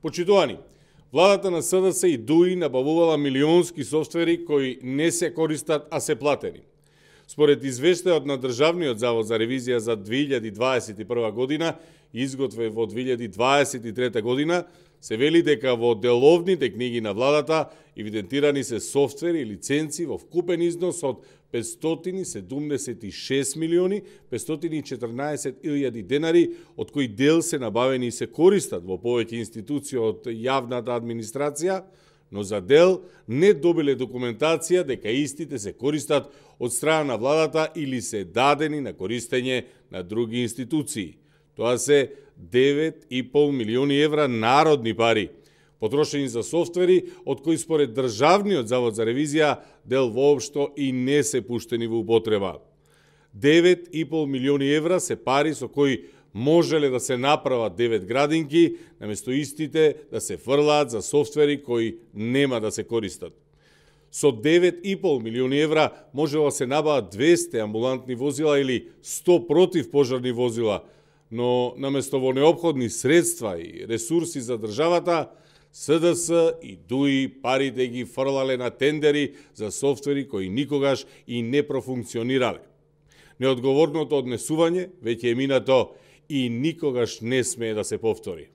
Почитувани, владата на СДС и ДУИ набавувала милионски софтвери кои не се користат, а се платени. Според извештајот на Државниот завод за ревизија за 2021 година, изготвен во 2023 година, се вели дека во деловните книги на владата евидентирани се софтвери и лиценци во вкупен износ од 576 милиони 514 илјади денари, од кои дел се набавени и се користат во повеќе институции од јавната администрација, но за дел не добиле документација дека истите се користат од страна на владата или се дадени на користење на други институции. Тоа се 9,5 милиони евра народни пари, потрошени за софтвери, од кои според Државниот завод за ревизија дел воопшто и не се пуштени во употреба. 9,5 милиони евра се пари со кои можеле да се направат 9 градинки, наместо истите да се фрлаат за софтвери кои нема да се користат. Со 9,5 милиони евра можело да се набават 200 амбулантни возила или 100 противпожарни возила, но наместо во неопходни средства и ресурси за државата, СДС и ДУИ парите ги фрлале на тендери за софтвери кои никогаш и не профункционирале. Неодговорното однесување веќе е минато и никогаш не смее да се повтори.